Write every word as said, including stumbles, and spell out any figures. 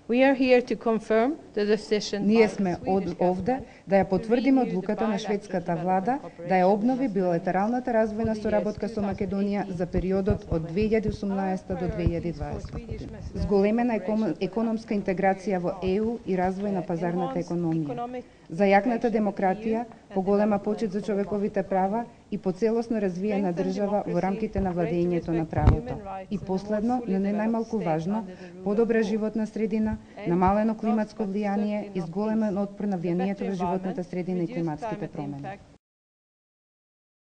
We are here to confirm the decision. Ние сме од, овде да ја потврдиме одлуката на шведската влада да ја обнови билатералната развојна соработка со Македонија за периодот од две илјади и осумнаесета до две илјади и дваесета година. Зголемена економска интеграција во Е У и развој на пазарната економија. За јакната демократија, поголема почит за човековите права и поцелосно развиена држава во рамките на владењето на правото. И последно, но не најмалку важно, подобра животна средина, намалено климатско влијание и зголемен отпор на влијанието во животната средина и климатските промени.